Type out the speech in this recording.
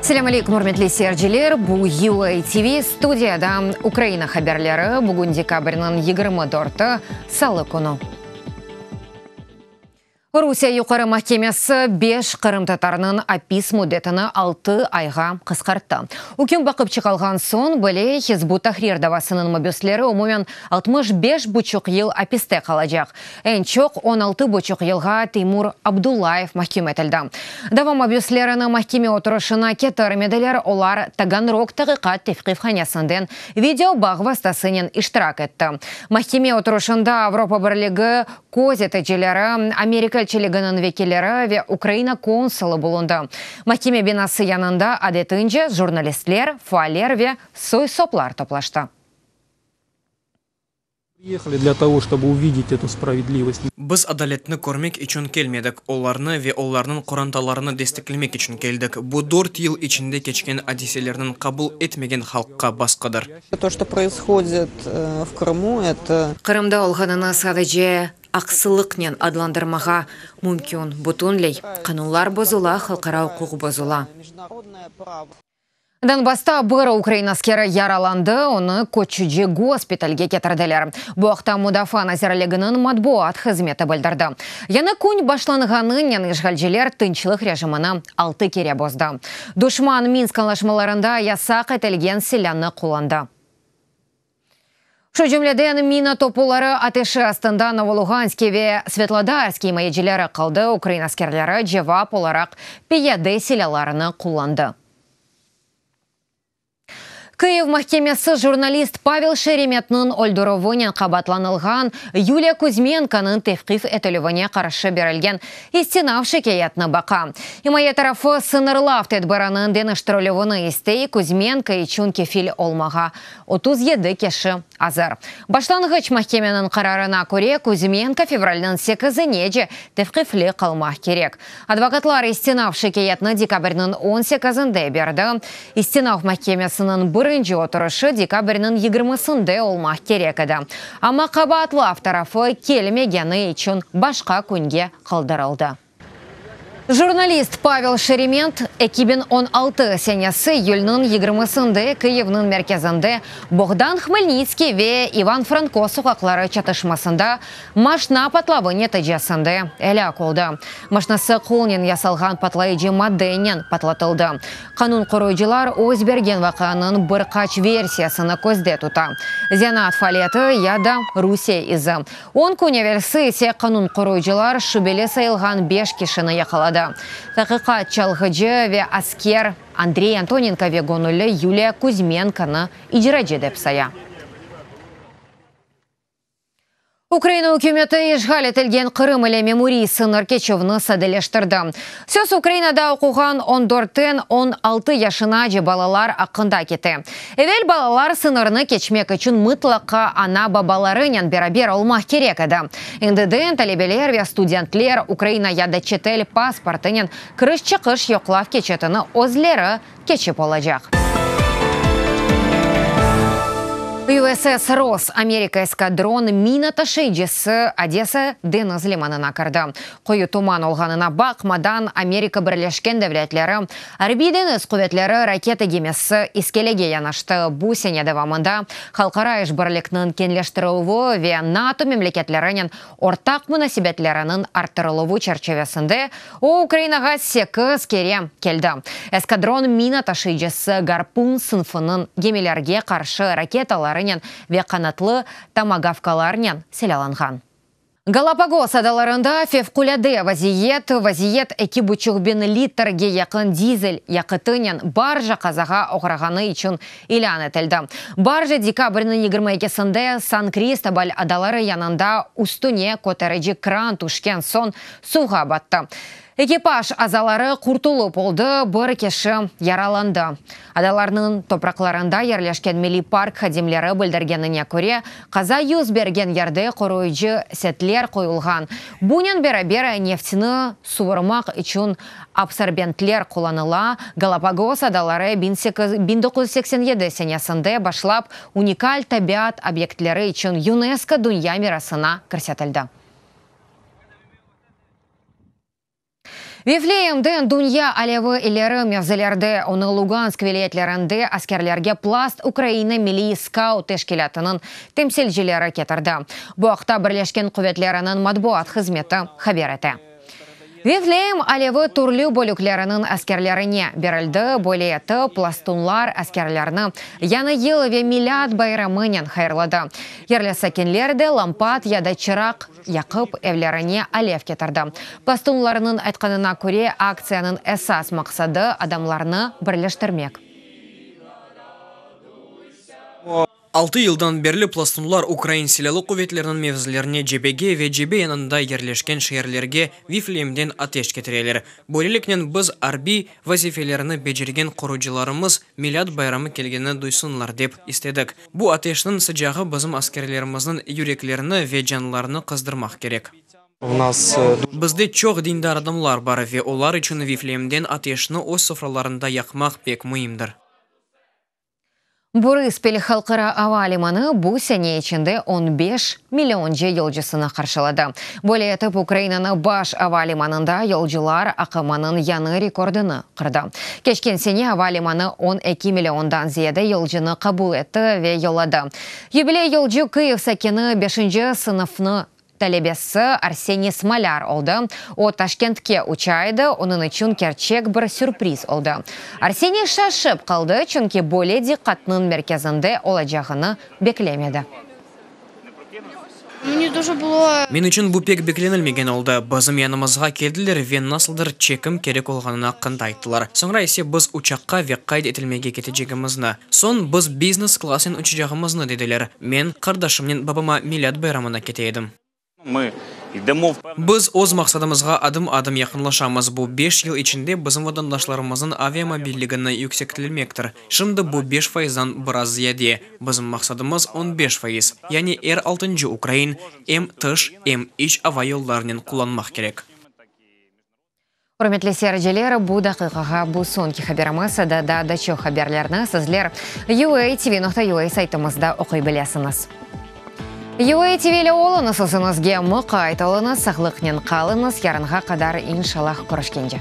Selâm aleykum, ürmetli seyirciler! Bu UA TV, studiyada Ukraina haberleri. Bugün dekabrniñ 24-i, salı künü. Rusiye Yuqarı mahkemesi beş qırımtatarnıñ apis müddetini altı ayğa qısqarttı. Üküm baqıp çıqalğan soñ bile Hizb ut-Tahrir davasınıñ mabüsleri umumen 65 buçuq yıl apiste qalacaq. Eñ çoq 16 buçuq yılğa Teymur Abdullayev mahküm etildi. Dava mabüslerini mahkeme oturışına ketirmediler, olar Taganrog taqiqat tevqifhanesinden video bağ vastasınen iştirak etti. Mahkeme oturışında Avropa Birligi köz eticileri, Amerika elçiliginiñ vekilleri ve Ukraina konsulı bulundı. Mahkeme binası yanında, adetince, jurnalistler, faaller ve soy-soplar toplaştı. Biz adaletni körmek içün kelmedik, olarnı ve olarnıñ qorantalarını desteklemek içün keldik. Bu dört yıl içinde keçken adiselerniñ qabul etmegen halqqa basqıdır. Qırımda olğanını sadece aqsızlıqnen adlandırmağa mümkün, bütünley qanunlar bozula, halqara uquq bozula. Donbassta bir ukrain askeri yaralandı, onı köçüci gospitalge ketirdiler. Bu aqta Mudafaa nazirliginiñ matbuat hızmeti bildirdi. Yañı kün başlanğanınen işğalciler tınçlıq rejimini altı kere bozdı. Duşman Minsk añlaşmalarında yasaq etilgen silânı qullandı. Şu cümleden, mina topuları ateşi astında Novoluğanskiy ve Svetlodarskiy imayecileri qaldı, ukrain askerleri cevap olaraq piyade silâlarını qullandı. Kyiv mahkemesi jurnalist Pavel Şeremetniñ öldürüvinen qabaatlanılğan Yuliya Kuzmenkonıñ tevqif etilüvine qarşı berilgen istinaf şikâyetini baqa. İmaye tarafı sıñırlav tedbiriniñ deñiştirilüvini istey, Kuzmenko içün kefil olmağa 37 kişi azır. Başlanğıç mahkemeniñ qararına köre, Kuzmenko fevralniñ sekizinece tevqifli qalmaq kerek. Advokatlar istinaf şikâyetni dekabrniñ on sekizinde berdi. İstinaf mahkemesiniñ birinci oturışı dekabrniñ yigirmisinde olmaq kerek edi, amma qabaatlav tarafı kelmegeni içün başqa künge qaldırıldı. Jurnalist Pavel Şerement 2016 senesi iyülniñ yigirmisinde Kıyivniñ merkezinde Boğdan Hmelnitskiy ve İvan Franko soqaqları çatışmasında maşna patlavı neticesinde elâk oldı. Maşnası qolnen yasalğan patlayıcı maddenen patlatıldı. Qanun qoruyıcılar öz bergen vaqianıñ bir qaç versiyasını közde tuta, zenaat faaliyeti ya da Rusiye izi. On kün evelsi ise qanun qoruyıcılar şübeli sayılğan beş kişini yaqaladı. Taqiqat çalğıcı ve asker Andrey Antonenko ve göñülli Yuliya Kuzmenkonı icracı dep saya. Ukraina ükümeti işğal etilgen Qırım ile memuriy sıñır keçüvni sadeleştirdi. Söz Ukrainada oquğan on dörtten 16 yaşınace balalar aqqında kete. Evel balalar sıñırnı keçmek içün mıtlaqa ana-babalarınen beraber olmaq kerek edi. Endiden talebeler ve studentler Ukraina ya da çetel pasportınen kiriş-çıqış yoqlav keçitini özleri keçip olacaq. USS Ross Amerika eskadron mina taşıyıcısı Odesa deñiz limanına kirdi. Qoyu tuman olğanına baqmadan, Amerika Birleşken Devletleri Arbiy-deñiz quvetleri raketa gemisi iskelege yanaştı. Bu sene devamında halqara işbirlikniñ keñleştirilüvi ve NATO memleketlerinen ortaq munasebetleriniñ arttırıluvı çerçivesinde o, Ukrainağa sekiz kere keldi. Eskadron mina taşıyıcısı Garpun sınfınıñ gemilerge qarşı raketalarınen ve qanatlı tomagavkalarnen silâlanğan. Galapagos adalarında fevqulâde vaziyet, vaziyet eki buçuq biñ litrge yaqın dizel yaqıtınen barja qazağa oğrağanı içün ilân etildi. Barja dekabrniñ 22-sinde San-Kristobal adaları yanında üstüne köterici kran tüşken soñ suvğa battı. Ekipaj azaları qurtulıp oldı, bir kişi yaralandı. Adalarnıñ topraqlarında yerleşken milliy park hadimleri bildirgenine köre, qaza yüz bergen yerde qoruyıcı setler qoyulğan, bunen beraber, neftni suvurmaq içün absorbentler qullanıla. Galapagos adaları 1987 senesinde başlap unikal tabiat obyektleri içün UNESCO Dünya mirasına kirsetildi. Vifleyemden dünya alevi ileri mevzilerde, onı Lugansk vilâyetlerinde askerlerge Plast Ukraina milliy skaut teşkilâtınıñ temsilcileri ketirdi. Bu aqta Birleşken quvetleriniñ matbuat hızmeti haber ete. Vifleyem alevi türlü bölükleriniñ askerlerine berildi, böyle etip, plastunlar askerlerni Yañı yıl ve Milât bayramınen hayırladı. Yerli sakinler de lampat ya da çıraq yaqıp, evlerine alev ketirdi. Plastunlarnıñ aytqanına köre, aktsiyanıñ esas maqsadı, adamlarnı birleştirmek. Altı yıldan berli plastunlar ukrain silâlı quvetleriniñ mevzilerine cebege ve cebe yanında yerleşken şeerlerge Vifleyemden ateş ketireler. Böyleliknen biz arbiy vazifelerini becergen qorucılarımız Milât bayramı kelgenini duysınlar dep istedik. Bu ateşniñ sıcağı bizim askerlerimizniñ yüreklerini ve canlarını qızdırmaq kerek. Bizde çoq dindar adamlar bar ve olar içün Vifleyemden ateşni öz sofralarında yaqmaq pek müimdir. Borıspil halqara ava limanı bu sene içinde on beş millionca yolcusını qarşıladı. Böyle etip Ukrainanı baş ava limanında yolcular aqımınıñ yañı rekordını qırdı. Keçken sene ava limanı 12 milliondan ziyade yolcunı qabul etti ve yolladı. Yubiley yolcu Kıyiv sakini beşinci sınıfnı talebesi Arseniy Smolâr oldı. O, Taşkentke uça edi, onıñ içün kerçek bir sürpriz oldı. Arseniy şaşıp qaldı, çünki böyle diqqatnıñ merkezinde olacağını beklemedi. Men içün bu pek beklenilmegen oldı. Bizim yanımızğa keldiler ve nasıldır çekim kerek olğanını aqqında ayttılar. Soñra ise biz uçaqqa ve qayd etilmege ketecegimizni. Soñ biz biznes klassnen uçacağımıznı dediler. Men qardaşımnen babama Milât bayramına kete edim. Biz öz maqsadımızğa adım-adım yaqınlaşamız, bu beş yıl içinde bizim vatandaşlarımıznıñ aviamobilligini yüksektilmektir. Şimdi bu beş faizdan biraz ziyade, bizim maqsadımız 15%, yani er altıncı ukrain em tış, em iç ava yollarınen qullanmaq kerek. Ürmetli seyirciler, bu daqiqağa bu soñki haberimiz. Daa da çoq haberlerni sizler UATV.UA saytımızda oquy bilesiñiz. UATV ile oluñız, özüñizge muqayt oluñız, sağlıqnen qalıñız, yarınğa qadar, inşallah, körüşkence.